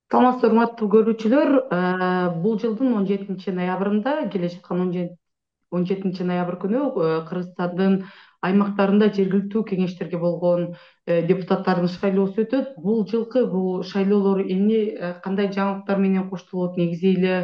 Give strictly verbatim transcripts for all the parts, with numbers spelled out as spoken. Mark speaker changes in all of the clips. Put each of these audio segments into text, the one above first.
Speaker 1: Саламатсызбы, урматтуу көрүүчүлөр. Э, Бул жылдын он жетинчи ноябрында, келе жаткан он жетинчи ноябрь күнү э, Кыргызстандын аймактарында жергиликтүү кеңештерге болгон э, депутаттардын шайлоосу өтөт. Бул жылкы бул шайлоолор эмне э, кандай жаңылыктар менен коштолот? Негизи эле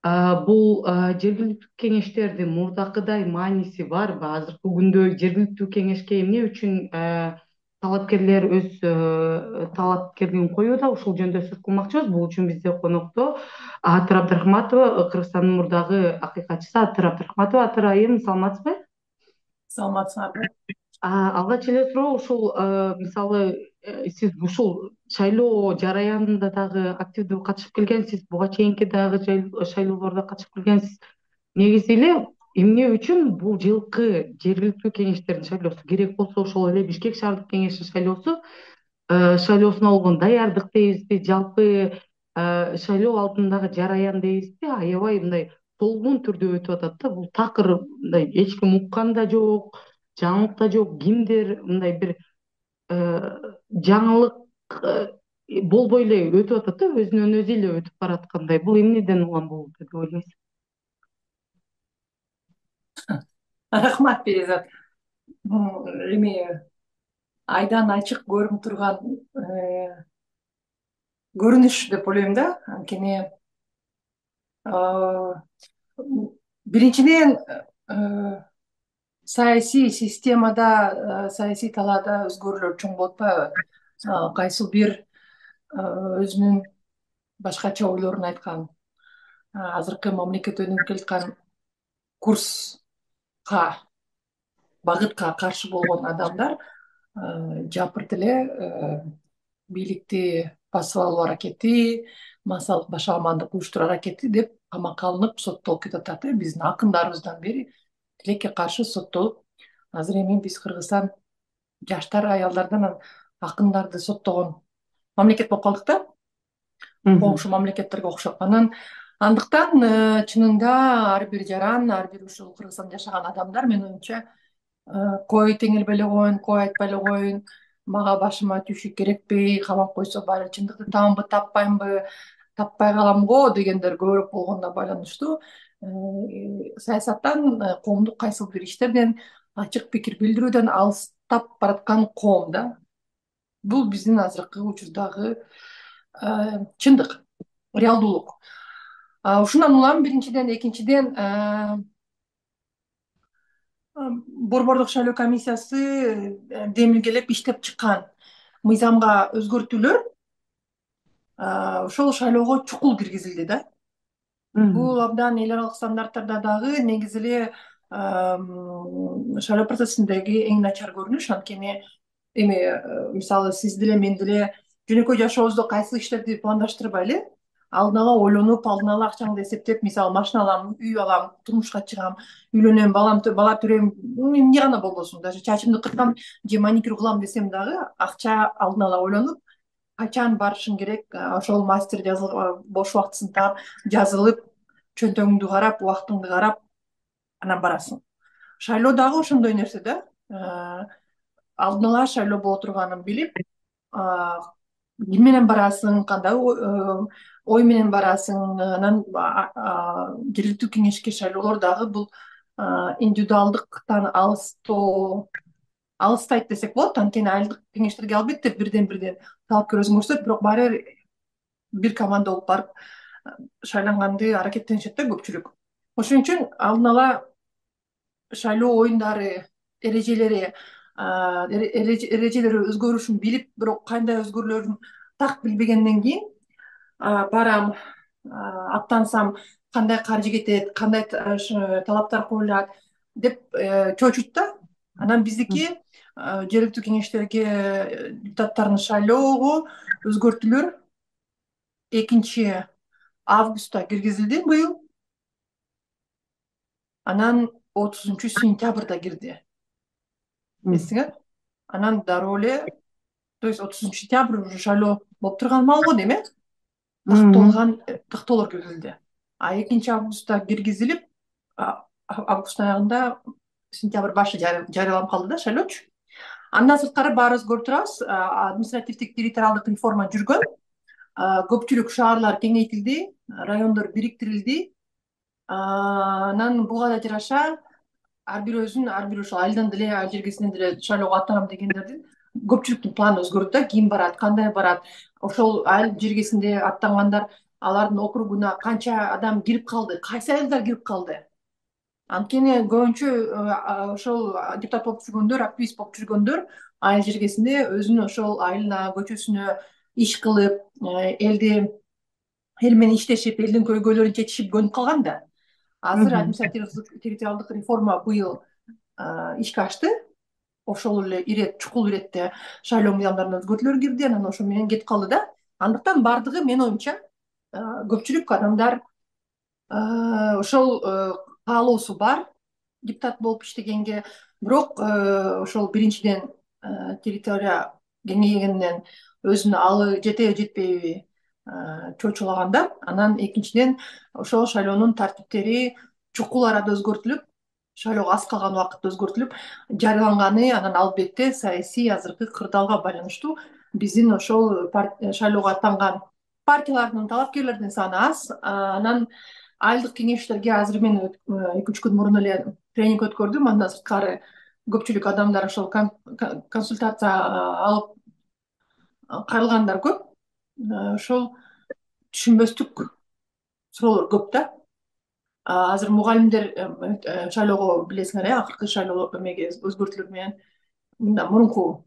Speaker 1: э, бул э, жергиликтүү кеңештердин мурдакыдай мааниси барбы? Азыркы күндө жергиликтүү кеңешке эмне үчүн э, талапкерлер өз э, талапкерлигин коюуда? Ушул жөнүндө сөз кылмакчыбыз. Бул үчүн бизде конокто Атыр Абдрахматова, Кыргызстандын мурдагы акыйкатчысы Атыр Абдрахматова. Атыр айым, саламатсызбы?
Speaker 2: Саламатсыңарбы?
Speaker 1: А, алгач эле суроо ушул э, мисалы э, сиз ушул шайлоо жараянында дагы активдүү катышып келгенсиз, буга чейинки дагы жай- шайлоолордо катышып келгенсиз. Негизи эле эмне үчүн бул жылкы жергиликтүү кеңештердин шайлоосу керек болсо, ошол эле Бишкек шаардык кеңешинин шайлоосу э, шайлоосуна болгон даярдык дейбизби, жалпы э, шайлоо алдындагы жараян дейбизби, аябай мындай толкун түрдө өтүп атат да. Бул такыр мындай эч ким уккан да жок, жаңылык да жок. Кимдир мындай бир э, жаңылык э, болбой эле өтүп атат да, өзүнөн өзү эле өтүп бараткандай. Бул эмнеден улам болуп деп ойлойсуз?
Speaker 2: Рахмат, Перизат. Бул эми айдан ачык көрүнүп турган э, көрүнүш деп ойлойм да. Анткени э, биринчиден э, саясий системада, э, саясий талаада өзгөрүүлөр чоң болуп атпайбы? Мисалы, кайсыл бир э, өзүнүн башкача ойлорун айткан, э, азыркы мамлекет өнүгүп келаткан курска, багытка каршы болгон адамдар э, жапырт эле э, бийликти басып алуу аракети, массалык башаламандык уюштуруу аракети деп камакка алынып соттолуп кетип атат. Э, биздин акындарыбыздан бери тилекке каршы соттолуп, азыр эми биз Кыргызстан жаштар, аялдардан анан акындарды соттогон мамлекет болуп калдык да,
Speaker 1: Мгм.
Speaker 2: коңшу мамлекеттерге окшоп. Анан андыктан э, чынында ар бир жаран, ар бир ушул Кыргызстанда жашаган адамдар, менин оюмча, Э, кой теңелбей эле коеюн, кой айтпай эле коеюн, мага башыма түшү керекпи, камап койсо баары чындыкты табамбы, таппаймынбы, таппай калам го дегендер көбүрөөк болгонуна байланыштуу. Э, саясаттан, э, коомдук кайсыл бир иштерден, ачык пикир билдирүүдөн алыстап бараткан коом да. Бул биздин азыркы учурдагы э, чындык, реалдуулук. А, ушундан улам биринчиден, экинчиден э, борбордук шайлоо комиссиясы э, демилгелеп иштеп чыккан мыйзамга өзгөртүүлөр а, ошол шайлоого чукул киргизилди да. Бул
Speaker 1: Мгм.
Speaker 2: абдан эл аралык стандарттарда дагы негизи эле ам, шайлоо процессиндеги эң начар көрүнүш. Анткени эми э, мисалы сиз деле мен деле жөнөкөй жашообузда кайсы иштерди пландаштырбай эле алдын ала ойлонуп, алдын ала акчаңды эсептеп, мисалы машина алам, үй алам, турмушка чыгам, үйлөнөм, балам бала төрөйм, эмне гана болбосун, даже чачымды кыркам же маникюр кылам десем дагы акча алдын ала ойлонуп, качан барышың керек, а, ошол мастер жазыл бош убактысында жазылып, чөнтөгүңдү карап, убактыңды карап, анан барасың. Шайлоо дагы ошондой нерсе да. Э, алдын ала шайлоо боло турганын билип, а, ким менен барасың, кандай ой э, ой менен барасың. Анан а- а, жергиликтүү кеңешке шайлоолор дагы бул а, индивидуалдыктан алыстоо, алыстайт десек болот. Анткени айылдык кеңештерге албетте бирден бирден талапкер өзүн көрсөтөт, бирок баары бир бир команда болуп барып э, шайланганды аракеттенишет да көпчүлүк. Ошон үчүн алдын ала шайлоо оюндары, эрежелери, а, эре- эреже- эрежелери өзгөрүшүн билип, бирок кандай өзгөрүүлөрүн так билбегенден кийин а, барам, а, аттансам кандай каржы кетет, кандай та- ш- талаптар коюлат деп э, чочуть да. Анан биздики а, жергиликтүү кеңештерге э, депутаттарын шайлоого өзгөртүүлөр экинчи августта киргизилди быйыл, анан отузунчу сентябрда кирди.
Speaker 1: Мгм.
Speaker 2: Эсиңер? Анан дароо эле, то есть отузунчу сентябрь уже шайлоо болуп турган маал го дейм, э
Speaker 1: Мгм.
Speaker 2: такталган, э, тактоолор киргизилди. А экинчи августта киргизилип, а- а- августтун аягында, сентябрь башы жары- жарыяланып калды да шайлоочу. Андан сырткары баарыбыз көрүп турабыз, а, административдик территориалдык реформа жүргөн. көпчүлүк шаарлар кеңейтилди, райондор бириктирилди. Анан буга да жараша ар бирөөсүн ар бир ошол айылдан деле айыл жергесинен деле шайлоого аттанам дегендердин көпчүлүктүн планы өзгөрдү да, ким барат, кандай барат, ошол айыл жергесинде аттангандар алардын округуна канча адам кирип калды, кайсы айылдар кирип калды. Анткени көбүнчө ошол депутат болуп жүргөндөр, активист болуп жүргөндөр айыл жергесинде өзүнүн ошол айылына, көчөсүнө иш кылып, элди эл менен иштешип, элдин көйгөйлөрүн чечишип көнүп калган да. Азыр административдик территориалдык реформа быйыл ишке ашты. Ошол эле ирет, чукул иретте шайлоо мыйзамдарына өзгөртүүлөр кирди, анан ошо менен кетип калды да. Андыктан баардыгы менин оюмча көпчүлүк адамдар ошол каалоосу бар депутат болуп иштегенге, бирок ошол биринчиден территория кеңейгенден өзүнө алы жетеби жетпейби чочулаганда, анан экинчиден ошол шайлоонун тартиптери чукул арада өзгөртүлүп, шайлоого аз калган убакытта өзгөртүлүп жарыяланганы, анан албетте саясий азыркы кырдаалга байланыштуу биздин ошол шайлоого аттанган партиялардын, талапкерлердин саны аз. Анан айылдык кеңештерге азыр мен эки үч күн мурун эле тренинг өткөрдүм, андан сырткары көпчүлүк адамдар ошол консультация алып кайрылгандар көп. Ошол түшүнбөстүк суроолор көп да. Азыр мугалимдер шайлоого, билесиңер э, акыркы шайлоо эмеге өзгөртүүлөр менен мындай мурунку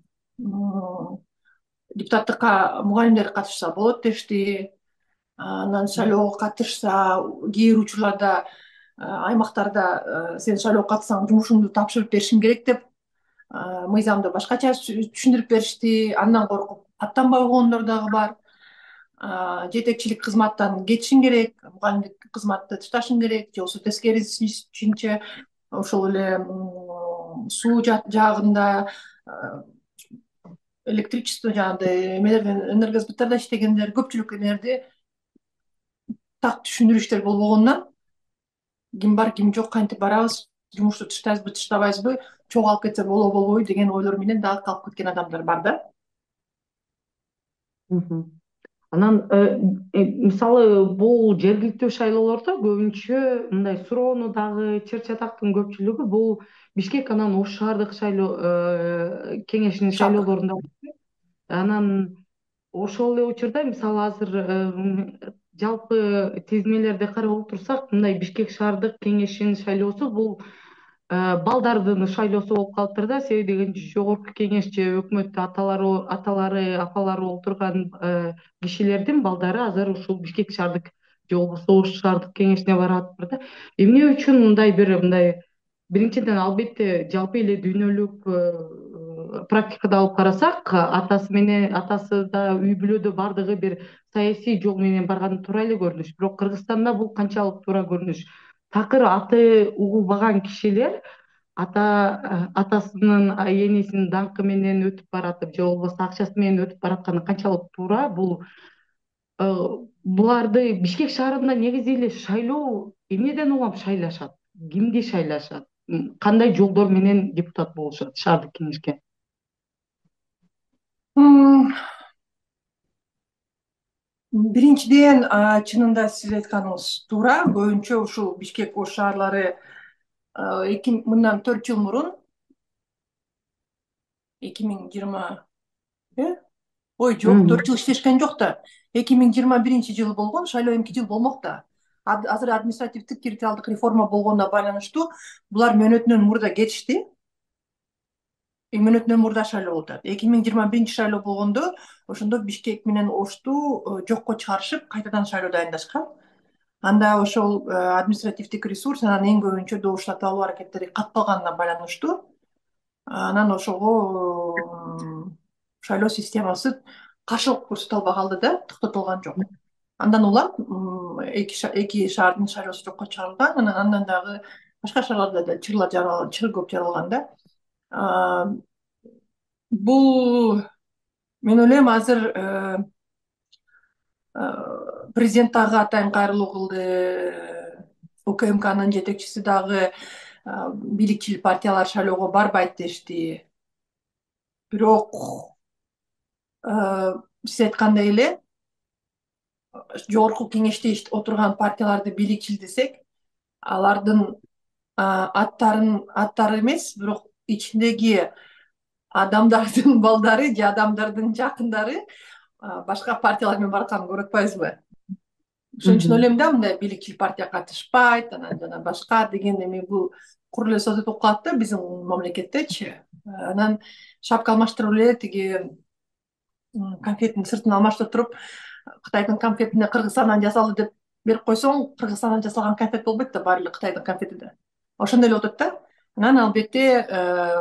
Speaker 2: депутаттыкка мугалимдер катышса болот дешти. Анан шайлоого катышса кээ бир учурларда аймактарда сен шайлоого катышсаң жумушуңду тапшырып беришиң керек деп мыйзамды башкача түшүндүрүп беришти. Андан коркуп аттанбай койгондор дагы бар. Жетекчилик кызматтан кетишиң керек, мугалимдик кызматты ташташың керек, же болбосо тескерисинче ошол эле суу жагында, электричество жагында эмелерден, энергосбыттарда иштегендер көпчүлүк эмелерди так түшүндүрүштөр болбогондон ким бар, ким жок, кантип барабыз, жумушту таштайбызбы, таштабайбызбы, чогулуп кетсе болобу болбойбу деген ойлор менен дагы калып кеткен адамдар бар да.
Speaker 1: Анан мисалы бул жергиликтүү шайлоолордо көбүнчө мындай суроону дагы чыр чатактын көпчүлүгү бул Бишкек анан Ош шаардык шайлоо кеңешинин шайлоолорунда. Анан ошол эле учурда мисалы азыр жалпы тизмелерди карап отурсак, мындай Бишкек шаардык кеңешинин шайлоосу бул балдардын шайлоосу болуп калыптыр да. Себеби дегенде жогорку кеңеш же өкмөттө аталары аталары апалары отурган кишилердин балдары азыр ушул Бишкек шаардык же болбосо Ош шаардык кеңешине баратыптыр да. Эмне үчүн мындай бир мындай биринчиден албетте жалпы эле дүйнөлүк практикада алып карасак, атасы менен атасы да үй бүлөдө бардыгы бир саясий жол менен барганы туура эле көрүнүш. Бирок Кыргызстанда бул канчалык туура көрүнүш? Такыр аты угулбаган кишилер ата атасынын энесинин даңкы менен өтүп баратып же болбосо акчасы менен өтүп баратканы канчалык туура? Бул буларды Бишкек шаарында негизи эле шайлоо эмнеден улам шайлашат? Кимди шайлашат? Кандай жолдор менен депутат болушат шаардык кеңешке?
Speaker 2: Биринчиден, чынында сиз айтканыңыз туура. Көбүнчө ушул Бишкек, Ош шаарлары мындан төрт жыл мурун эки миң жыйырма ой жок, төрт жыл иштешкен жок да. эки миң жыйырма биринчи жылы болгон, шайлоо эмки жыл болмок да. Азыр административдик территориалдык реформа болгонуна байланыштуу булар мөөнөтүнөн мурда кетишти. Мөөнөтүнөн мурда шайлоо болуп атат. эки миң жыйырма биринчи шайлоо болгондо ошондо Бишкек менен Ошту жокко чыгарышып, кайтадан шайлоо дайындашкан. Анда ошол административдик ресурс, анан эң көбүнчө добуш сатып алуу аракеттери катталганына байланыштуу анан ошого шайлоо системасы каршылык көрсөтө албай калды да, токтотулган жок. Андан улам эки шаардын шайлоосу жокко чыгарылган, анан андан дагы башка шаарларда да чырлар жаралган, чыр көп жаралган да. Бул мен ойлойм азыр президент дагы атайын кайрылуу кылды, УКМКнын жетекчиси дагы бийликчил партиялар шайлоого барбайт дешти. Бирок сиз айткандай эле жогорку кеңеште отурган партияларды бийликчил алардын аттарын аттары эмес, бирок ичиндеги адамдардын балдары же адамдардын жакындары башка партиялар менен баратканын көрүп атпайбызбы? Ошон үчүн ойлойм да, мындай бийликчил партия катышпайт, анан жана башка деген эми бул кур эле создот болуп калат да биздин мамлекеттечи. Анан шапка алмаштырып эле тиги конфеттин сыртын алмаштырып туруп, Кытайдын конфетине Кыргызстандан жасалды деп берип койсоң, Кыргызстандан жасалган конфет болбойт да, баары эле Кытайдын конфети да. Ошондой эле болуп атат да. Анан албетте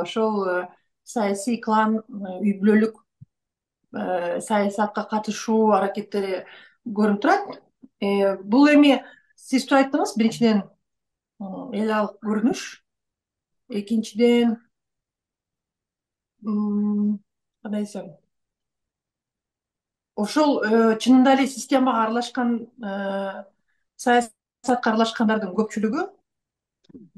Speaker 2: ошол саясий клан, үй бүлөлүк саясатка катышуу аракеттери көрүнүп турат. Бул эми сиз туура айттыңыз, биринчиден эл алык көрүнүш, экинчиден кандай десем, ошол чынында эле системага аралашкан, саясатка аралашкандардын көпчүлүгү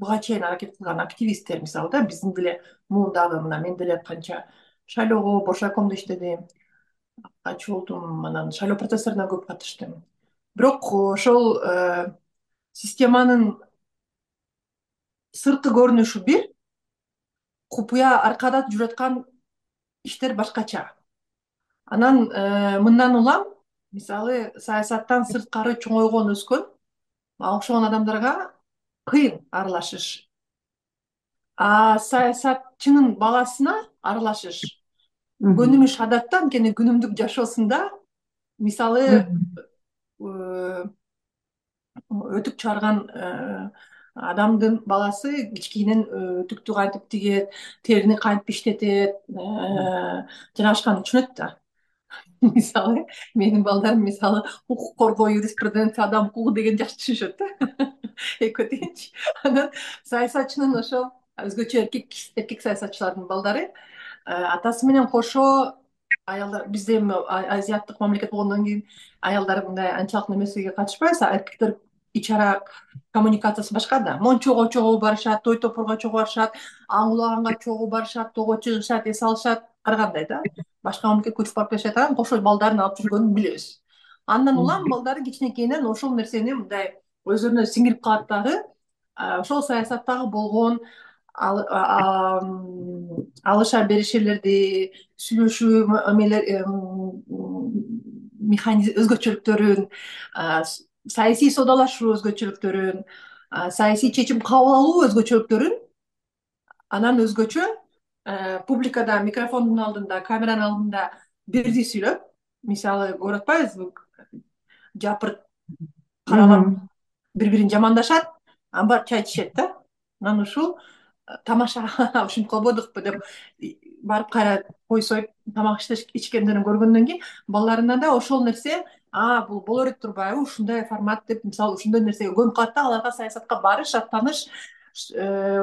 Speaker 2: буга чейин аракет кылган активисттер, мисалы да, биздин деле муундагы, мына мен деле канча шайлоого, Боршайкомдо иштедим, качуу болдум, анан шайлоо процесстерине көп катыштым. Бирок ошол системанын сырткы көрүнүшү бир, купуя аркада жүрүп аткан иштер башкача. Анан мындан улам, мисалы, саясаттан сырткары чоңойгон, өскөн окшогон адамдарга кыйын аралашыш. А саясатчынын баласына аралашыш көнүмүш адатта, анткени күнүмдүк жашоосунда, мисалы, өтүк чыгарган адамдын баласы кичкенен өтүктү кантип тигет, терини кантип иштетет, жана түшүнөт да. Мисалы, менин балдарым мисалы укук коргоо, юриспруденция, адам укугу деген жакшы түшүнүшөт да. Экөө тегинчи. Анан саясатчынын ошол өзгөчө эркек эркек саясатчылардын балдары атасы менен кошо, аялдар, бизде эми азиаттык мамлекет болгондон кийин аялдар мындай анчалык немесиге катышпайбыз, эркектер ич ара коммуникациясы башка да. Мончого чогуу барышат, той топурга чогуу барышат, аң улаганга чогуу барышат, тоого чыгышат, эс алышат, ар кандай да. Башка мамлекетке учуп барып келишет, анан кошо балдарын алып жүргөнүн билебиз. Андан улам балдары кичинекейинен ошол нерсени мындай өздөрүнө сиңирип калат дагы. Ошол саясаттагы болгон алыша беришелерди, сүйлөшүү механизм өзгөчөлүктөрүн, саясий соодалашуу өзгөчөлүктөрүн, саясий чечим кабыл алуу өзгөчөлүктөрүн, анан өзгөчө публикада, микрофондун алдында, камеранын алдында бирдей сүйлөп, мисалы, көрүп атпайбызбы, жапырт каралап бири-бирин жамандашат, анан барып чай ичишет да. Анан ушул тамаша, ушинтип калбадыкпы деп барып кайра кой союп тамак ичкендерин көргөндөн кийин балдарына да ошол нерсе, а бул боло берет турбайбы, ушундай формат деп, мисалы, ошондой нерсеге көнүп калат да, аларга саясатка барыш, аттаныш,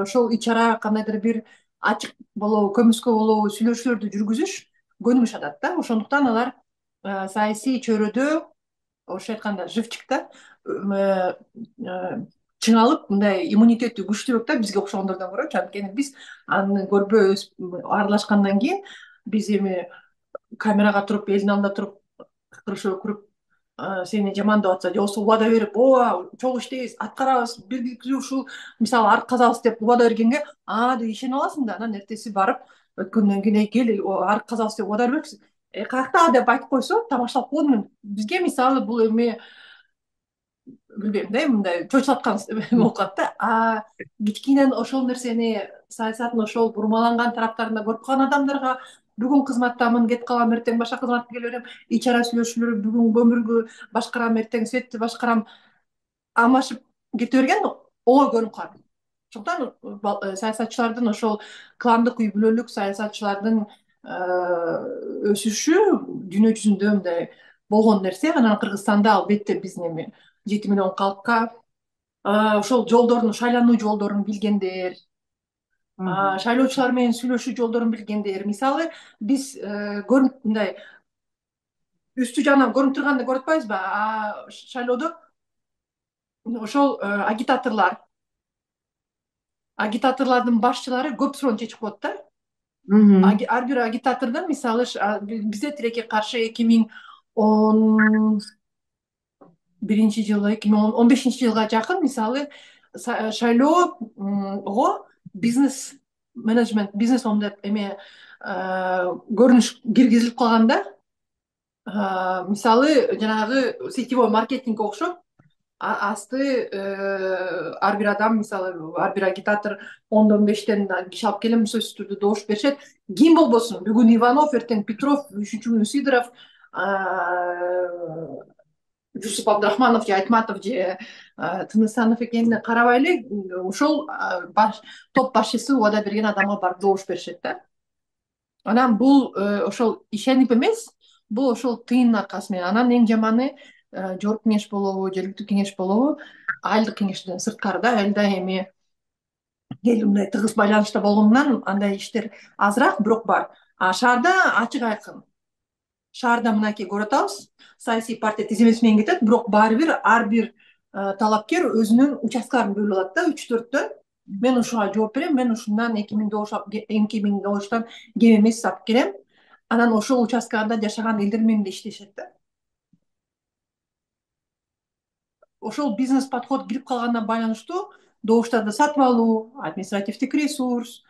Speaker 2: ошол ич ара кандайдыр бир ачык болобу, көмүскө болобу сүйлөшүүлөрдү жүргүзүш көнүмүш адат да. Ошондуктан алар саясий чөйрөдө, орусча айтканда, живчикта чыңалып, мындай иммунитети күчтүүрөөк да бизге окшогондордон көрөчү. Анткени биз аны көрбөй аралашкандан кийин биз эми камерага туруп, элдин алдында туруп, кыркырышып өкүрүп, сени жамандап атса, же болбосо убада берип, ооба чогуу иштейбиз, аткарабыз, бир ушул мисалы арк казабыз деп убада бергенге, а деп ишене аласың да. Анан эртеси барып өткөндөн кийин, эй кел, арк казабыз деп убада бербекчиз, э каякта деп айтып койсо, тамашалап койдум. Бизге мисалы бул эми билбейм да, мындай чочулаткан болуп калат да. А кичкенен ошол нерсени, саясаттын ошол бурмаланган тараптарында көрүп калган адамдарга бүгүн кызматтамын, кетип калам, эртең башка кызматка келе берем, ич ара сүйлөшүүлөр, бүгүн көмүргү башкарам, эртең светти башкарам, алмашып кете берген ой көрүнүп калат. Ошондуктан саясатчылардын, ошол кландык, үй бүлөлүк саясатчылардын өсүшү дүйнө жүзүндө мындай болгон нерсе. Анан Кыргызстанда албетте биздин эми жети миллион калкка ошол жолдордун, шайлануу жолдорун билгендер, шайлоочулар менен сүйлөшүү жолдорун билгендер. Мисалы, биз көрүнүп мындай үстү жагынан көрүнүп турганды көрүп атпайбызбы? Шайлоодо ошол агитаторлор, агитаторлордун башчылары көп суроону чечип коет да. Ар бир агитатордун, мисалы, бизде тилекке каршы эки миң он биринчи жылы эки миң он бешинчи жылга жакын мисалы шайлоого бизнес менеджмент бизнес ом деп эме көрүнүш киргизилип калганда мисалы жанагы сетевой маркетингке окшоп асты ар бир адам мисалы ар бир агитатор ондон бештен киши алып келем сөзсүз түрдө добуш беришет. Ким болбосун бүгүн Иванов, эртең Петров, үчүнчү күнү Сидоров, Жусуп Абдрахманов же Айтматов же Тынысанов экенине карабай эле ошол топ башчысы убада берген адамга барып добуш беришет да. Анан бул ошол ишенип эмес, бул ошол тыйындын аркасы менен. Анан эң жаманы жогорку кеңеш болобу, жергиликтүү кеңеш болобу, айылдык кеңештен сырткары да, элде эми эл мындай тыгыз байланышта болгондон андай иштер азыраак, бирок бар. А шаарда ачык айкын. Шаарда мынакей көрүп атабыз, саясий партия тизимеси менен кетет, бирок баары бир ар бир талапкер өзүнүн участкаларын бөлүп алат да, үч төрттөн. Мен ушуга жооп берем, мен ушундан эки миң добуштан кем эмес алып келем. Анан ошол участкада жашаган элдер менен да иштешет да. Ошол бизнес подход кирип калганына байланыштуу добуштарды сатып алуу, административдик ресурс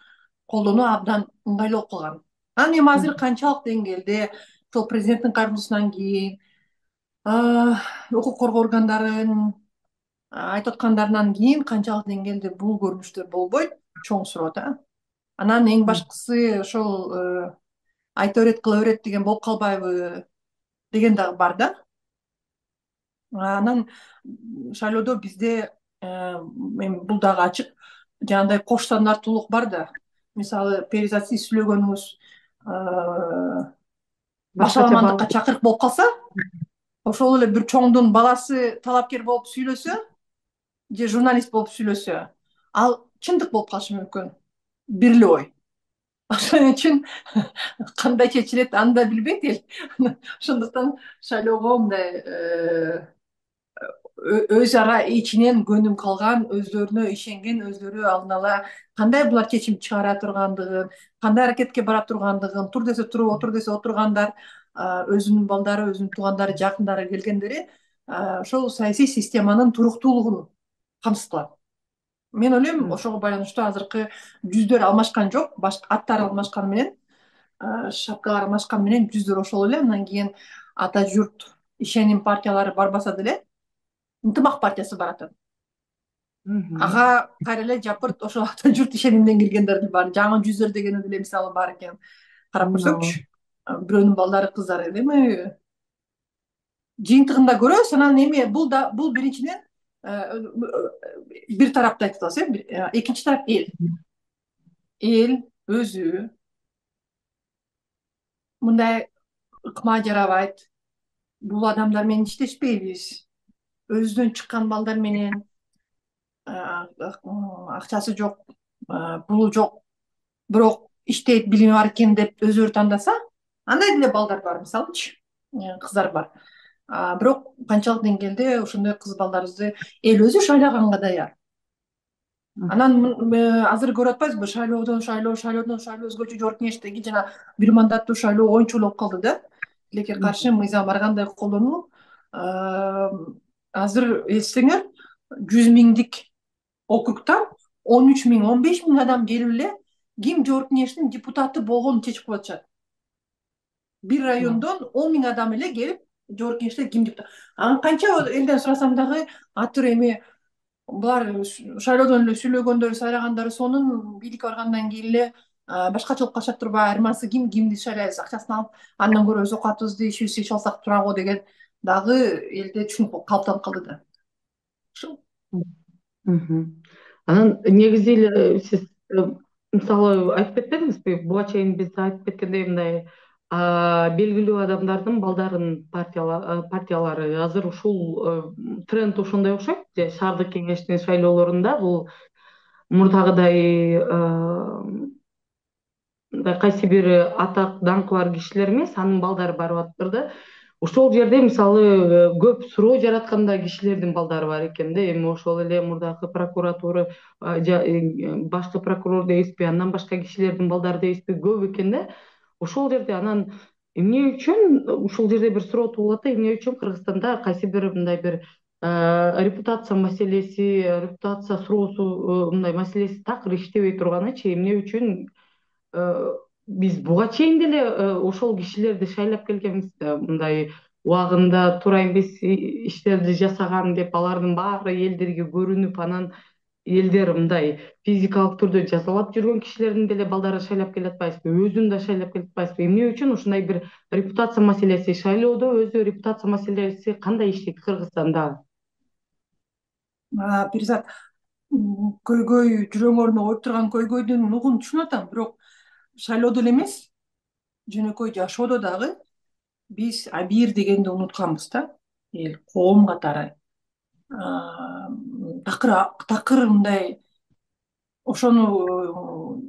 Speaker 2: колдонуу абдан ыңгайлуу болуп калган. Анан эми азыр канчалык деңгээлде ошол президенттин кайрылуусунан кийин укук коргоо органдарын айтып аткандарынан кийин канчалык деңгээлде бул көрүнүштөр болбойт, чоң суроо да. Анан эң башкысы ошол айта берет кыла берет деген болуп калбайбы деген дагы бар да. Анан шайлоодо бизде эми бул дагы ачык жанагындай кош стандарттуулук бар да. Мисалы перизат сиз сүйлөгөнүңүз башаламандыкка чакырык болуп калса, ошол эле бир чоңдун баласы талапкер болуп сүйлөсө же журналист болуп сүйлөсө, ал чындык болуп калышы мүмкүн. Бир эле ой. Ошон үчүн кандай чечилет аны да билбейт эл. Ошондуктан шайлоого мындай өз ара ичинен көнүм калган, өздөрүнө ишенген, өздөрү алдын ала кандай булар чечим чыгара тургандыгын, кандай аракетке бара тургандыгын, тур десе туруп, отур десе отургандар, өзүнүн балдары, өзүнүн туугандары, жакындары келгендери ошол саясий системанын туруктуулугун камсыз кылат. Мен ойлойм, ошого байланыштуу азыркы жүздөр алмашкан жок, аттар алмашканы менен, шапкалар алмашканы менен жүздөр ошол эле. Андан кийин ата журт ишеним партиялары барбаса деле ынтымак партиясы баратат. Ага кайра эле жапырт ошол ата журт ишенимден киргендерди бар. Жаңы жүздөр дегени деле мисалы бар экен. Карап көрсөкчү, бирөөнүн балдары, кыздары эми жыйынтыгында көрөбүз. Анан эми бул да бул биринчиден бир тарапты айтып атабыз, э. Экинчи тарап эл. Эл өзү мындай ыкма жарабайт. Бул адамдар менен иштешпейбиз. Өзүнөн чыккан балдар менен акчасы жок, пулу жок, бирок иштейт, билими бар экен деп өздөрү тандаса, андай деле балдар бар, мисалычы, кыздар бар. Бирок канчалык деңгээлде ошондой кыз балдарыбызды эл өзү шайлаганга даяр. Анан азыр көрүп атпайбызбы, шайлоодон шайлоо, шайлоодон шайлоо, өзгөчө жогорку кеңештеги жана бир мандаттуу шайлоо оюнчул болуп калды да. Тилекке каршы мыйзам ар кандай колдонуу. Азыр эзсеңер, жүз миңдик округтан он үч миң, он беш миң адам келип эле ким жогорку кеңештин депутаты болгонун чечип коюп атышат. Бир райондон он миң адам эле келип жогорку кеңеште ким депутат. Анан канча элден сурасам дагы атыр эми булар шайлоодон эле сүйлөгөндөр, сайлагандар сонун бийликке баргандан кийин эле башкача болуп калышат турбайбы, айырмасы ким кимди шайлайбыз, акчасын алып, андан көрө өз оокатыбызды ишибизди ичип алсак турабы деген дагы элде түшүнүк калыптанып калды да. Ушул.
Speaker 1: Анан негизи эле сиз мисалы айтып кетпедиңизби, буга чейин биз айтып кеткендей мындай белгилүү адамдардын балдарынын партиялары азыр ушул тренд ошондой окшойт. Шаардык кеңештин шайлоолорунда бул мурдагыдай кайсы бир атак даңкы бар кишилер эмес, анын балдары барып атыптыр да. Ошол жерде мисалы көп суроо жараткан да кишилердин балдары бар экен да. Эми ошол эле мурдагы прокуратура, башкы прокурор дейбизби, андан башка кишилердин балдары дейбизби, көп экен да. Ошол жерде анан эмне үчүн ушул жерде бир суроо туулат да, эмне үчүн Кыргызстанда кайсы бир мындай бир репутация маселеси, репутация суроосу, мындай маселеси такыр иштебей турганычы эмне үчүн биз буга чейин деле ошол кишилерди шайлап келгенбиз да, мындай убагында туура эмес иштерди жасаган деп алардын баары элдерге көрүнүп, анан элдер мындай физикалык түрдө жазалап жүргөн кишилердин деле балдарын шайлап келатпайбызбы, өзүн да шайлап келатпайбызбы? Эмне үчүн ушундай бир репутация маселеси, шайлоодо өзү репутация маселеси кандай иштейт Кыргызстанда?
Speaker 2: Перизат, көйгөй жүрөң ордуна коюп турган көйгөйдүн нугун түшүнүп атам, бирок шайлоодо эле эмес, жөнөкөй жашоодо дагы биз абийир дегенди унутканбыз да, эл коом катары. Такыр такыр мындай ошону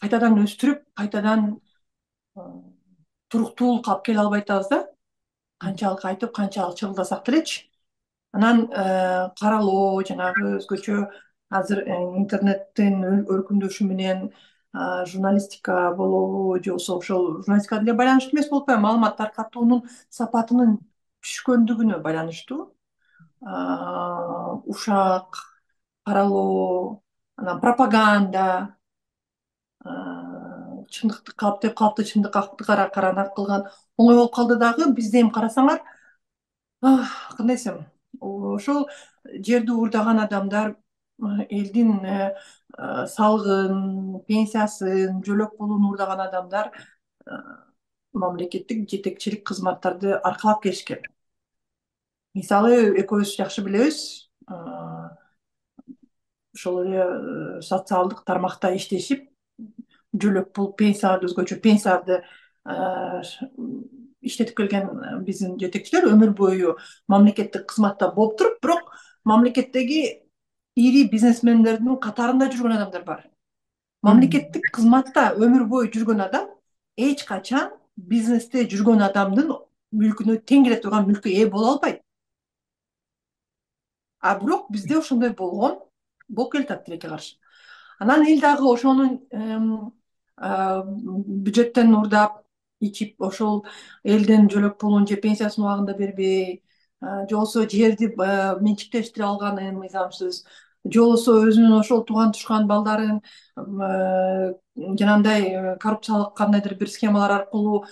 Speaker 2: кайтадан өстүрүп, кайтадан туруктуулукка алып келе албай атабыз да, канчалык айтып, канчалык чыгылдасак делечи. Анан каралоо, жанагы өзгөчө азыр интернеттин өркүндөшү менен журналистика болобу, же болбосо ошол журналистикага деле байланыштуу эмес болуп атпайбы, маалымат таркатуунун сапатынын түшкөндүгүнө байланыштуу. Ушак, каралоо, анан пропаганда, чындыкты калыптеп калыпты, чындыкты каранак кылган оңой болуп калды дагы. Бизде эми карасаңар, кандай десем, ошол жерди уурдаган адамдар элдин салыгын, пенсиясын, жөлөк пулун уурдаган адамдар мамлекеттик жетекчилик кызматтарды аркалап келишкен. Мисалы, экөөбүз жакшы билебиз, ошол эле социалдык тармакта иштешип, жөлөк пул, пенсияларды, өзгөчө пенсияларды иштетип келген биздин жетекчилер өмүр бою мамлекеттик кызматта болуп туруп, бирок мамлекеттеги ири бизнесмендердин катарында жүргөн адамдар бар. Мамлекеттик кызматта өмүр бою жүргөн адам эч качан бизнесте жүргөн адамдын мүлкүнө тең келе турган мүлккө ээ боло албайт. А бирок бизде ошондой болгон, болуп келатат тилекке каршы. Анан эл дагы ошонун бюджеттен уурдап ичип, ошол элдин жөлөк пулун же пенсиясын убагында бербей, же болбосо жерди менчиктештире алганын мыйзамсыз, же болбосо өзүнүн ошол тууган тушкан балдарын жанагындай коррупциялык кандайдыр бир схемалар аркылуу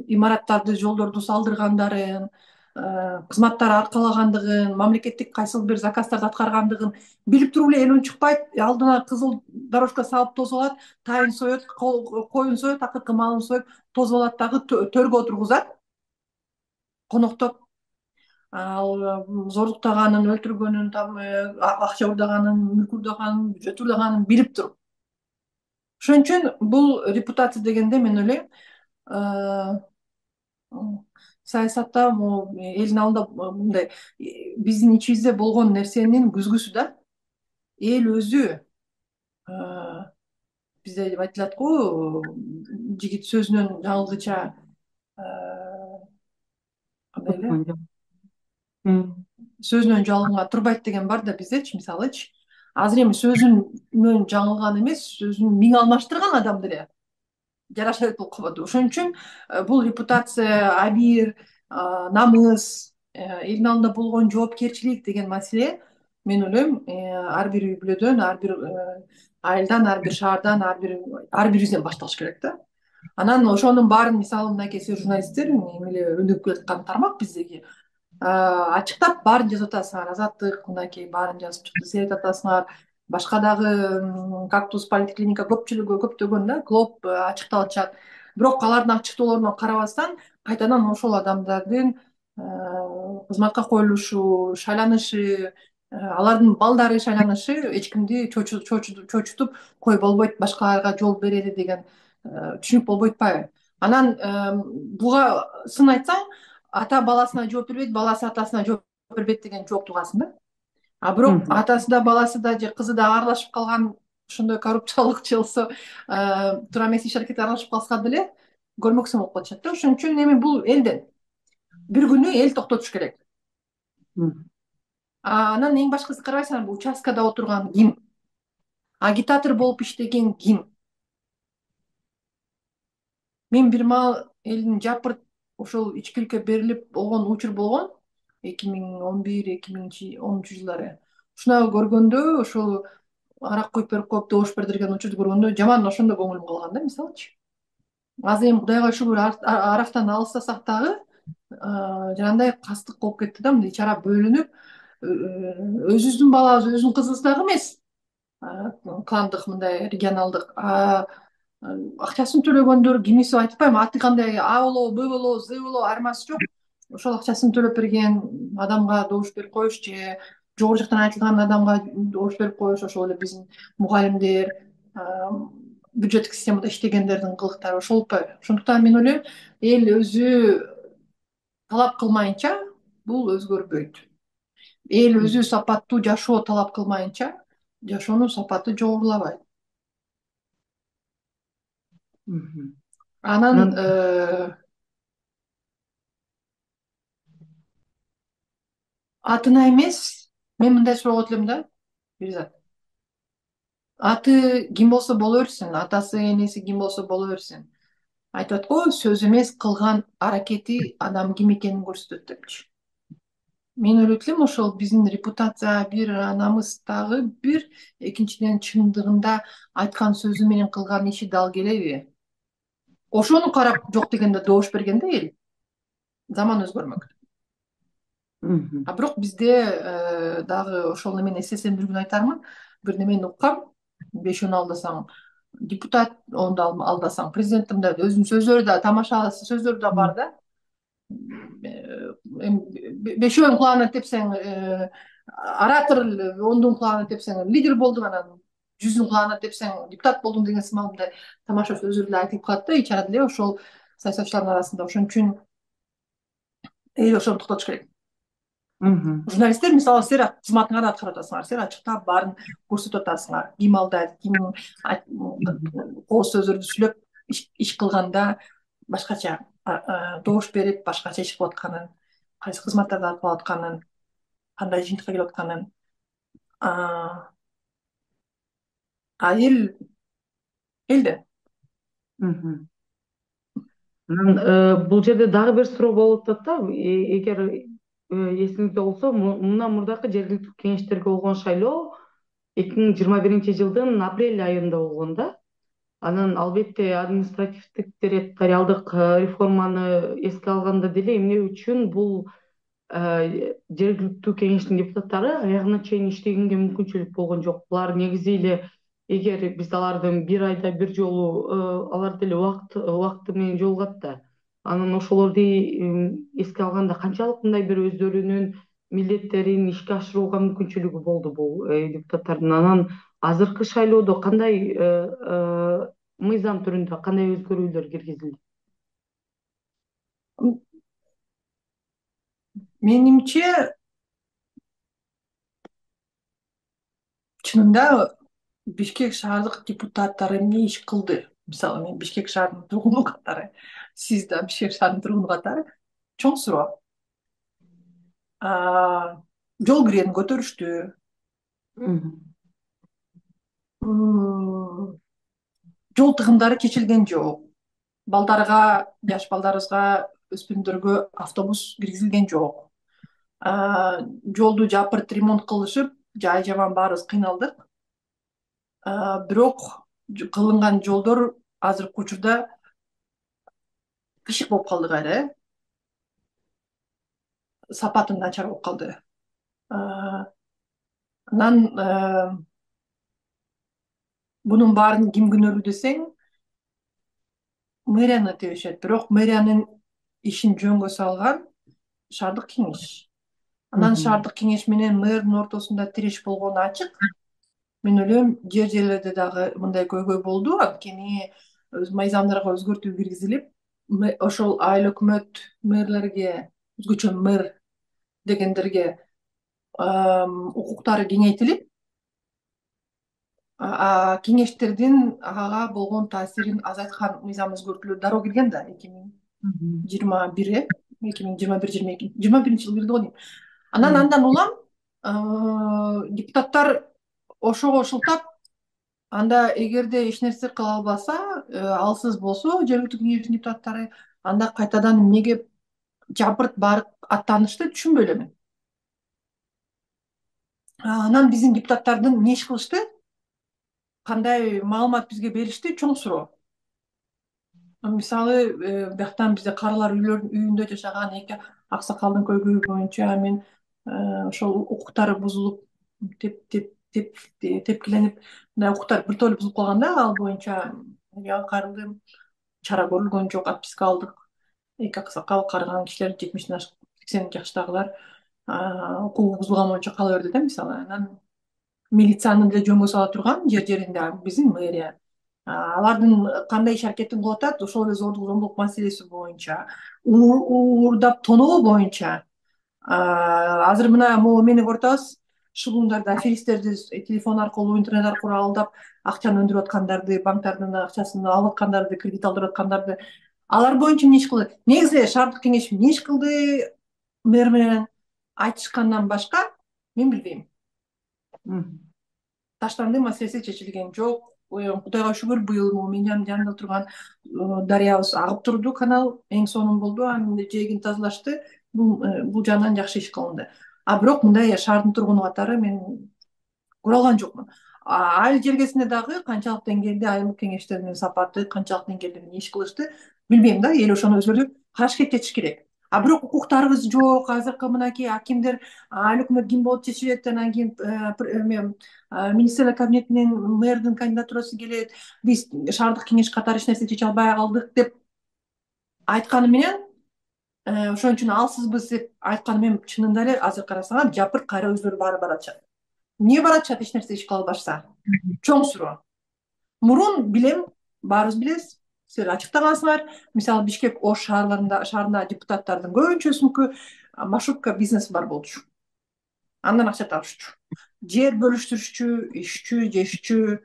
Speaker 2: имараттарды, жолдорду салдыргандарын, кызматтар аркалагандыгын, мамлекеттик кайсыл бир заказдарды аткаргандыгын билип туруп эле эл унчукпайт, алдына кызыл дорожка салып тосуп алат, тайын соет, коюн соет, акыркы малын союп тосуп алат дагы төргө отургузат, коноктоп, ал зордуктаганын, өлтүргөнүн, акча уурдаганын, мүлк уурдаганын, бюджет уурдаганын билип туруп. Ошон үчүн бул репутация дегенде мен ойлойм, саясатта, могу элдин алдында мындай биздин ичибизде болгон нерсенин күзгүсү да. Эл өзү, бизде деп айтылат го, жигит сөзүнөн жаңылгыча кандай эле, сөзүнөн жалганга турбайт деген бар да биздечи, мисалычы. Азыр эми сөзүнөн жаңылган эмес, сөзүн миң алмаштырган адам деле жараша берет болуп калбадыбы. Ошон үчүн бул репутация, абийир, намыс, элдин алдында болгон жоопкерчилик деген маселе, мен ойлойм, ар бир үй бүлөдөн, ар бир айылдан, ар бир шаардан, ар бир ар бирибизден башталыш керек да. Анан ошонун баарын, мисалы, мынакей сиз журналисттер, эми эле өнүгүп келаткан тармак биздеги, ачыктап баарын жазып атасыңар. Азаттык мынакей баарын жазып чыкты, Серет атасыңар, башка дагы Кактус, Политклиника, көпчүлүгү, көптөгөн да Глоб ачыктап атышат. Бирок алардын ачыктоолоруна карабастан кайтадан ошол адамдардын кызматка коюлушу, шайланышы, алардын балдары шайланышы эч кимди чочутуп кой болбойт, башкаларга жол берели деген түшүнүк болбойт атпайбы? Анан буга сын айтсаң, ата баласына жооп бербейт, баласы атасына жооп бербейт деген жооп тугасың да. А бирок атасы да, баласы да же кызы да аралашып калган, ошондой коррупциялык же болбосо туура эмес иш аракетке аралашып калса деле көрмөксөң болуп калышат да. Ошон үчүн эми бул элден бир күнү эл токтотуш керек. Анан эң башкысы, карабайсыңарбы, участкада отурган ким? Агитатор болуп иштеген ким? Мен бир маал элдин жапырт ошол ичкиликке берилип болгон учур болгон. эки миң он бир эки миң онунчу жылдары. Ушуна көргөндө, ошол арак куюп берип коюп добуш бердирген учурду көргөндө жаман ошондо көңүлүм калган да, мисалычы. Азыр эми Кудайга шүгүр арактан алыстасак дагы жанагындай кастык болуп кетти да, мындай ич ара бөлүнүп, өзүбүздүн балабыз өзүнүн кызыбыз дагы эмес, кландык мындай регионалдык акчасын төлөгөндөр, кимиси айтпайм, аты кандай, А болобу, Б болобу, З болобу, айырмасы жок. Ошол акчасын төлөп берген адамга добуш берип коюш же жогору жактан айтылган адамга добуш берип коюш, ошол эле биздин мугалимдер, бюджеттик системада иштегендердин кылыктары ошол болуппайбы? Ошондуктан мен ойлойм, эл өзү талап кылмайынча бул өзгөрбөйт. Эл өзү сапаттуу жашоо талап кылмайынча жашоонун сапаты жогорулабайт. Анан атына эмес, мен мындай сурап элем да, Бирзат. Аты ким болсо боло берсин, атасы, энеси ким болсо боло берсин. Айтат го, сөз эмес, кылган аракети адам ким экенин көрсөтөт депчи. Мен ойлойт элем, ошол биздин репутация бир, намыс дагы бир, экинчиден чындыгында айткан сөзү менен кылган иши дал келеби? Ошону карап жок дегенде добуш берген да эл. Заман өзгөрмөк. А бирок бизде дагы ошол эмени эстесем айтармын, бир немени уккам, бешөөнү алдасаң депутат, онду алдасаң президент, мындай өзүнүн сөздөрү да, тамаша сөздөрү да бар да. Бешөөнүн кулагына тепсең оратор, ондун кулагына тепсең лидер болдуң, анан жүздүн кулагына тепсең депутат болдуң деген сымал мындай тамаша сөздөр эле айтылып калат да, ич арада эле ошол саясатчылардын арасында. Ошон үчүн эл ошону токтотуш керек. Журналисттер, мисалы, силер кызматыңарды аткарып атасыңар, силер ачыктап баарын көрсөтүп атасыңар. Ким алдайт, ким кооз сөздөрдү сүйлөп иш кылганда башкача добуш берип, башкача иш кылып атканын, кайсы кызматтарды аткарып атканын, кандай жыйынтыкка келип атканын. А эл элде.
Speaker 1: Бул жерде дагы бир суроо болуп атат да, эгер эсиңизде болсо, мындан мурдакы жергиликтүү кеңештерге болгон шайлоо эки миң жыйырма биринчи жылдын апрель айында болгон да. Анан албетте административдик территориалдык реформаны эске алганда деле эмне үчүн бул жергиликтүү кеңештин депутаттары аягына чейин иштегенге мүмкүнчүлүк болгон жок. Булар негизи эле, эгер биз алардын бир айда бир жолу алар деле убакыт убакыты менен жолугат да, анан ошолорду эске алганда канчалык мындай бир өздөрүнүн милдеттерин ишке ашырууга мүмкүнчүлүгү болду бул депутаттардын. Анан азыркы шайлоодо кандай мыйзам түрүндө кандай өзгөрүүлөр киргизилди?
Speaker 2: Менимче, чынында Бишкек шаардык депутаттары эмне иш кылды? Мисалы, мен Бишкек шаарынын тургуну катары, сиз да Бишкек шаарынын тургуну катары чоң суроо. Жол киренин көтөрүштү. Жол тыгындары чечилген жок. Балдарга, жаш балдарыбызга, өспүрүмдөргө автобус киргизилген жок. Жолду жапырт ремонт кылышып, жай жаман баарыбыз кыйналдык. Бирок кылынган жолдор азыркы учурда кышык болуп калды кайра, э? Сапаты начар болуп калды. Анан бунун баарын ким күнөөлүү десең, мэрияны тебишет. Бирок мэриянын ишин жөнгө салган шаардык кеңеш. Анан шаардык кеңеш менен мэрдин ортосунда тиреш болгону ачык. Мен ойлойм, жер жерлерде дагы мындай көйгөй болду, анткени мыйзамдарга өзгөртүү киргизилип, ошол айыл өкмөт мэрлерге, өзгөчө мэр дегендерге укуктары кеңейтилип, кеңештердин ага болгон таасирин азайткан мыйзам өзгөртүүлөр дароо кирген да, эки миң жыйырма бир, э эки миң жыйырма бир жыйырма эки жыйырма биринчи жылы кирди го дейм. Анан андан улам депутаттар ошого шылтап, анда эгерде эч нерсе кыла албаса, алсыз болсо жергиликтүү кеңештин депутаттары, анда кайтадан эмнеге жапырт барып аттанышты түшүнбөй элем. Анан биздин депутаттардын эмне иш кылышты, кандай маалымат бизге беришти, чоң суроо. Мисалы, бияктан бизде карылар үйүндө жашаган эки аксакалдын көйгөйү боюнча мен ошол укуктары бузулуп, теп теп теп тепкиленип, мындай укуктар биртоло бузулуп калган да, ал боюнча кайрылдым, чара көрүлгөн жок, отписка алдык. Эки аксакал, карыган кишилер, жетимиштен ашык, сексен жаштагылар укугу бузулган боюнча кала берди да, мисалы. Анан милицияны деле жөнгө сала турган жер жеринде биздин мэрия. Алардын кандай иш аракетин кылып атат, ошол эле зордук зомбулук маселеси боюнча, уурдап тоноо боюнча. Азыр мына могу эмени көрүп атабыз, шылуундарда аферисттерди телефон аркылуу, интернет аркылуу алдап, акчаны өндүрүп аткандарды, банктардын акчасын алып аткандарды, кредит алдырып аткандарды, алар боюнча эмне иш кылды? Негизи шаардык кеңеш эмне иш кылды мэр менен айтышкандан башка мен билбейм. Таштанды маселеси чечилген жок. Кудайга шүгүр, быйыл могу менин жанымда турган дарыябыз агып турду, канал эң сонун болду, анын жээгин тазалашты. Бул жагынан жакшы иш кылынды. А бирок мындай шаардын тургуну катары мен көрө алган жокмун. Айыл жергесинде дагы канчалык деңгээлде айылдык кеңештердин сапаты, канчалык деңгээлде эмне иш кылышты билбейм да. Эл ошону өзгөртүп аракет этиш керек. А бирок укуктарыбыз жок. Азыркы мынакей акимдер, айыл өкмөт ким болуп чечилет, анан кийин министрлер кабинетинен мэрдин кандидатурасы келет, биз шаардык кеңеш катары эч нерсе чече албай калдык деп айтканы менен, ошон үчүн алсызбыз деп айтканы менен, чынында эле азыр карасаңар жапырт кайра өздөрү баары баратышат. Эмне баратышат эч нерсе иш кыла албашса? Чоң суроо. Мурун билем, баарыбыз билебиз, силер ачыктагансыңар, мисалы Бишкек, Ош шаарларында шаарында депутаттардын көбүнчөсүнүкү маршрутка бизнеси бар болчу. Андан акча табышчу. Жер бөлүштүрүшчү, ишчү, жешчү.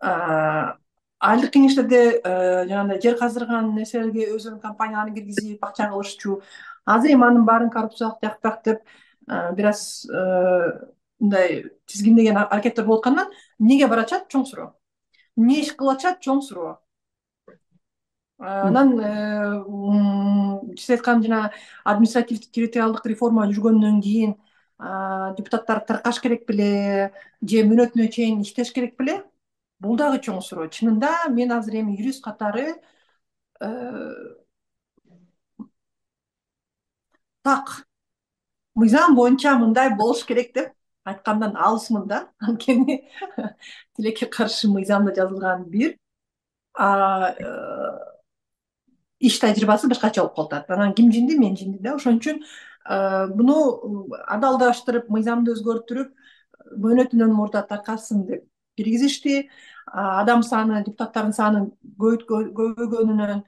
Speaker 2: Айылдык кеңештерде жанагындай жер каздырган нерселерге өзүнүн компанияларын киргизип акча кылышчу. Азыр эми анын баарын коррупциялык жактак деп бир аз мындай тизгиндеген аракеттер болуп аткандан эмнеге баратышат, чоң суроо. Эмне иш кылып атышат, чоң суроо. Анан сиз айткан жана административдик территориалдык реформа жүргөндөн кийин депутаттар таркаш керек беле же мөөнөтүнө чейин иштеш керек беле? Бул дагы чоң суроо. Чынында мен азыр эми юрист катары так мыйзам боюнча мындай болуш керек деп айткандан алысмын да. Анткени тилекке каршы мыйзамда жазылган бир иш тажрыйбасы башкача болуп калып атат. Анан ким жинди, мен жинди да. Ошон үчүн буну адалдаштырып, мыйзамды өзгөртүрүп, мөөнөтүнөн мурда таркалсын деп киргизишти. Адам саны, депутаттардын саны көбөйгөнүнөн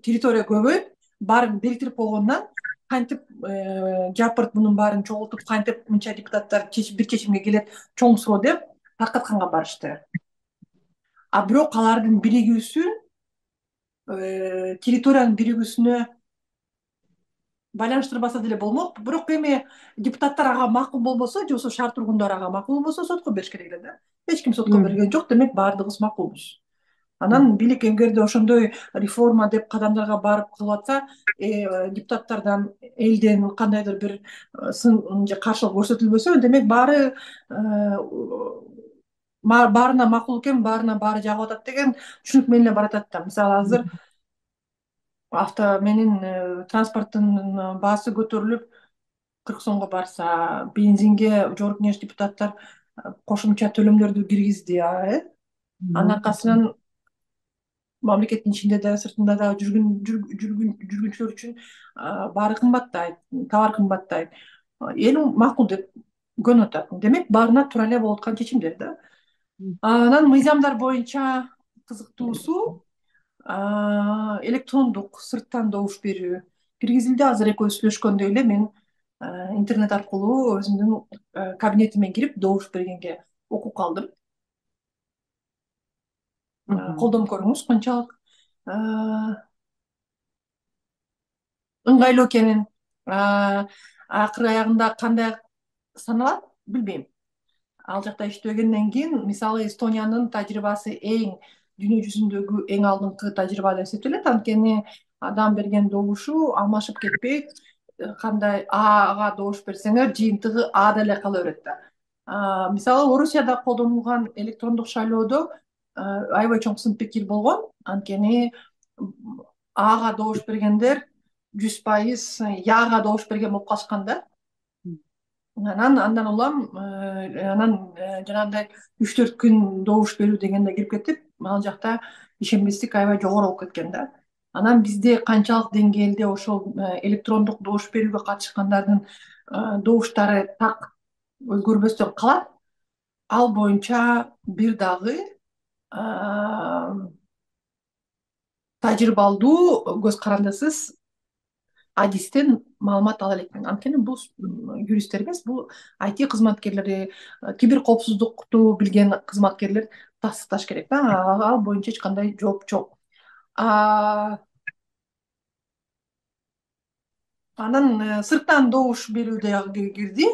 Speaker 2: территория көбөйүп, баарын бириктирип койгондон кантип жапырт мунун баарын чогултуп, кантип мынча депутаттар бир чечимге келет, чоң суроо деп таркатканга барышты. А бирок алардын биригүүсү территориянын биригүүсүнө байланыштырбаса деле болмок. Бирок эми депутаттар ага макул болбосо, же болбосо шаар тургундары ага макул болбосо сотко бериш керек эле да. Эч ким сотко берген жок, демек баардыгыбыз макулбуз. Анан бийлик эгерде ошондой реформа деп кадамдарга барып кылып атса, депутаттардан, элден кандайдыр бир сын же каршылык көрсөтүлбөсө, демек баары баарына макул экен, баарына баары жагып атат деген түшүнүк менен эле баратат да. Мисалы азыр авто менин транспорттун баасы көтөрүлүп кырк сомго барса, бензинге жогорку кеңеш депутаттар кошумча төлөмдөрдү киргизди, э? Анын аркасынан мамлекеттин ичинде да, сыртында да жүргүнчүлөр үчүн баары кымбаттайт, товар кымбаттайт. Эл макул деп көнүп атат. Демек баарына туура эле болуп аткан чечимдер да. Анан мыйзамдар боюнча кызыктуусу электрондук сырттан добуш берүү киргизилди. Азыр экөөбүз сүйлөшкөндөй эле мен интернет аркылуу өзүмдүн кабинетиме кирип добуш бергенге укук алдым. Колдонуп көрүңүз канчалык ыңгайлуу экенин. Акыры аягында кандай саналат билбейм. Ал жакта иштегенден кийин, мисалы Эстониянын тажрыйбасы эң дүйнө жүзүндөгү эң алдыңкы тажрыйба деп эсептелет. Анткени адам берген добушу алмашып кетпейт. кандай ага добуш берсеңер жыйынтыгы а деле кала берет да. Мисалы Орусияда колдонулган электрондук шайлоодо аябай чоң сын пикир болгон. Анткени ага добуш бергендер жүз пайыз яга добуш берген болуп калышкан да. Анан андан улам анан жанагындай үч төрт күн добуш берүү дегенде кирип кетип, ал жакта ишенбестик аябай жогору болуп кеткен да. Анан бизде канчалык деңгээлде ошол электрондук добуш берүүгө катышкандардын добуштары так өзгөрбөстөн калат, ал боюнча бир дагы тажрыйбалдуу көз карандысыз адистен маалымат ала элекмин. Анткени бул юристтер эмес, бул ай ти кызматкерлери, кибер коопсуздукту билген кызматкерлер тастыкташ керек да. Ал боюнча эч кандай жооп жок. Анан сырттан добуш берүү дагы кирди.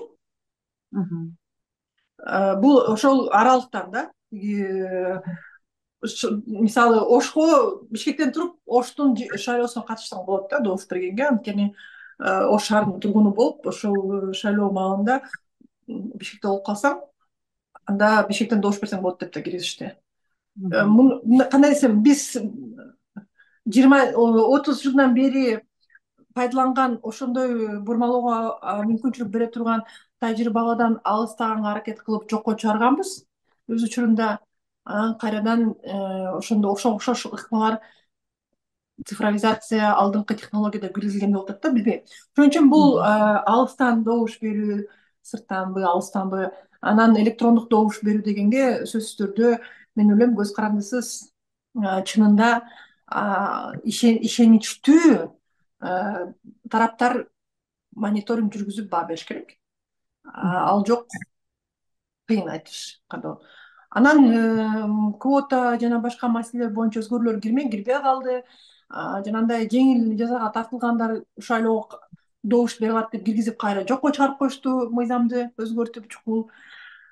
Speaker 2: Бул ошол аралыктан да. Мисалы Ошко Бишкектен туруп Оштун шайлоосуна катышсаң болот да добуш бергенге. Анткени Ош шаарынын тургуну болуп, ошол шайлоо маалында Бишкекте болуп калсаң, анда Бишкектен добуш берсең болот деп да киргизишти. Кандай десем, биз жыйырма отуз жылдан бери пайдаланган, ошондой бурмалоого мүмкүнчүлүк бере турган тажрыйбадан алыстаганга аракет кылып жокко чыгарганбыз өз учурунда. Анан кайрадан ошондо окшош ыкмалар цифровизация, алдыңкы технологияда киргизилген болуп атат да, билбейм. Ошон үчүн бул алыстан добуш берүү, сырттанбы, алыстанбы, анан электрондук добуш берүү дегенге сөзсүз түрдө мен ойлойм көз карандысыз чынында ишеничтүү тараптар мониторинг жүргүзүп баа бериш керек. Ал жок, кыйын айтыш кандай. Анан квота жана башка маселелер боюнча өзгөрүүлөр кирмей кирбей калды. Жанагындай жеңил жазага тартылгандар шайлоого добуш бере алат деп киргизип кайра жокко чыгарып коюшту, мыйзамды өзгөртүп чукул.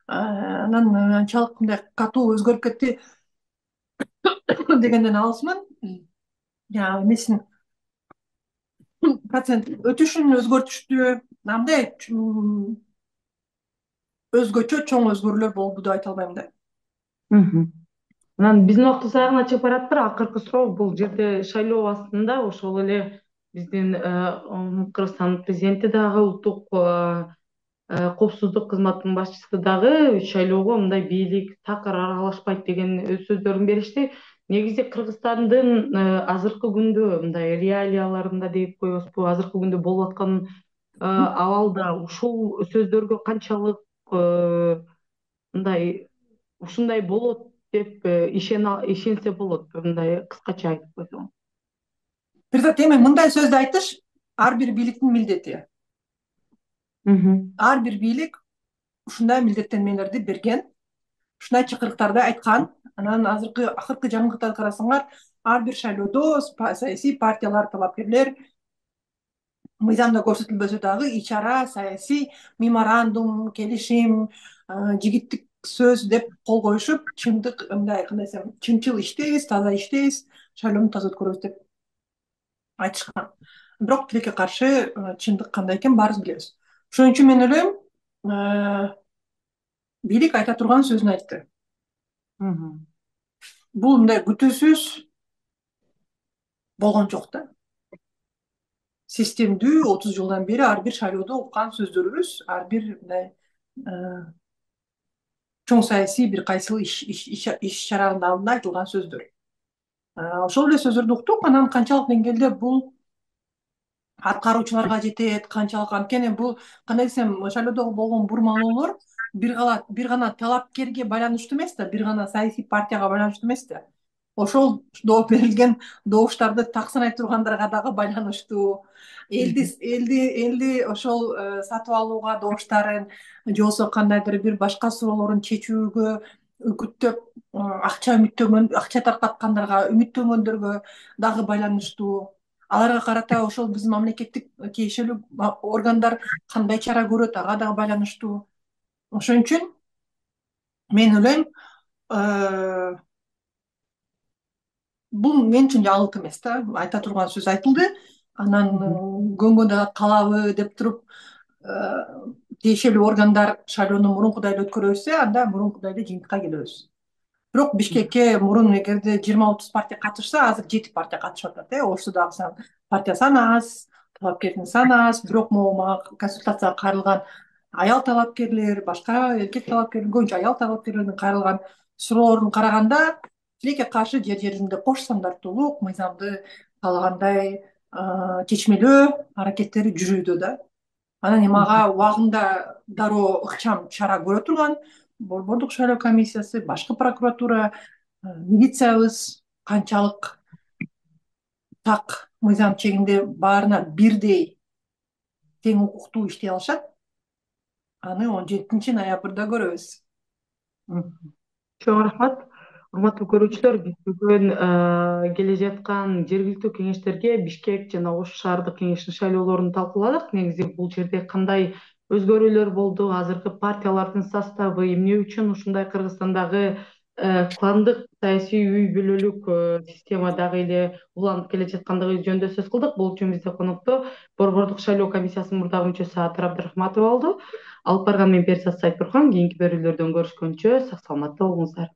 Speaker 2: Анан анчалык мындай катуу өзгөрүп кетти дегенден алысмын. Жанагы эмесин процент өтүшүн өзгөртүштү. Андай өзгөчө чоң өзгөрүүлөр болду деп айта албайм да.
Speaker 1: Анан биздин убактыбыз аягына чыгып баратыр. Акыркы суроо бул жерде шайлоо астында ошол эле биздин Кыргызстандын президенти дагы, улуттук коопсуздук кызматынын башчысы дагы шайлоого мындай бийлик такыр аралашпайт деген өз сөздөрүн беришти. Негизи Кыргызстандын азыркы күндө мындай реалияларында деп коебузбу, азыркы күндө болуп аткан абалда ушул сөздөргө канчалык мындай ушундай болот деп ишенсе болот, мындай кыскача айтып койсоң.
Speaker 2: Бир эми мындай сөздү айтыш ар бир бийликтин милдети. Ар бир бийлик ушундай милдеттенмелерди берген, ушундай чакырыктарды айткан. Анан азыркы акыркы жаңылыктарды карасаңар, ар бир шайлоодо саясий партиялар, талапкерлер мыйзамда көрсөтүлбөсө дагы ичара саясий меморандум, келишим, жигиттик сөз деп кол коюшуп, чындык мындай кандай десем, чынчыл иштейбиз, таза иштейбиз, шайлоону таза өткөрөбүз деп айтышкан. Бирок тилекке каршы чындык кандай экенин баарыбыз билебиз. Ошон үчүн мен ойлойм, бийлик айта турган сөзүн айтты. Бул мындай күтүүсүз болгон жок да. Системдүү отуз жылдан бери ар бир шайлоодо уккан сөздөрүбүз, ар бир мындай чоң саясий бир кайсыл иш чаранын алдында айтылган сөздөр. Ошол эле сөздөрдү уктук. Анан канчалык деңгээлде бул аткаруучуларга жетет, канчалык, анткени бул кандай десем, шайлоодо болгон бурмалоолор бир гана бир гана талапкерге байланыштуу эмес да, бир гана саясий партияга байланыштуу эмес да. Ошол берилген добуштарды так санай тургандарга дагы байланыштуу. Элди элди элди ошол сатып алууга добуштарын же болбосо кандайдыр бир башка суроолорун чечүүгө үгүттөп акча үмүттөнгөн, акча таркаткандарга, үмүттөнгөндөргө дагы байланыштуу. Аларга карата ошол биздин мамлекеттик тиешелүү органдар кандай чара көрөт, ага дагы байланыштуу. Ошон үчүн мен ойлойм, бул мен үчүн жаңылык эмес да. Айта турган сөз айтылды. анан көнгөн дагы калабы деп туруп тиешелүү органдар шайлоону мурункудай эле өткөрө анда мурункудай эле жыйынтыкка келебиз. Бирок Бишкекке мурун эгерде жыйырма отуз партия катышса, азыр жети партия катышып атат. э Ошто дагы партия саны аз, талапкердин саны аз. Бирок могу мага консультацияга кайрылган аял талапкерлер, башка эркек талапкерлер, көбүнчө аял талапкерлердин кайрылган суроолорун караганда, тилекке каршы жер жеринде кош стандарттуулук, мыйзамды каалагандай чечмелөө аракеттери жүрүүдө да. Анан эми ага убагында дароо ыкчам чара көрө турган Борбордук шайлоо комиссиясы, башкы прокуратура, милициябыз канчалык так мыйзам чегинде баарына бирдей тең укуктуу иштей алышат, аны он жетинчи ноябрда көрөбүз.
Speaker 1: Чоң рахмат. Урматтуу көрүүчүлөр, биз бүгүн келе жаткан жергиликтүү кеңештерге Бишкек жана Ош шаардык кеңешинин шайлоолорун талкууладык. Негизи бул жерде кандай өзгөрүүлөр болду, азыркы партиялардын составы эмне үчүн ушундай Кыргызстандагы кландык саясий үй бүлөлүк система дагы эле уланып келе жаткандыгы жөнүндө сөз кылдык. Бул үчүн бизде конокто Борбордук шайлоо комиссиясынын мурдагы мүчөсү Атыр Абдрахматова болду. Алып барган мен Перизат Сайтбурхан. Кийинки берүүлөрдөн көрүшкөнчө сак саламатта болуңуздар.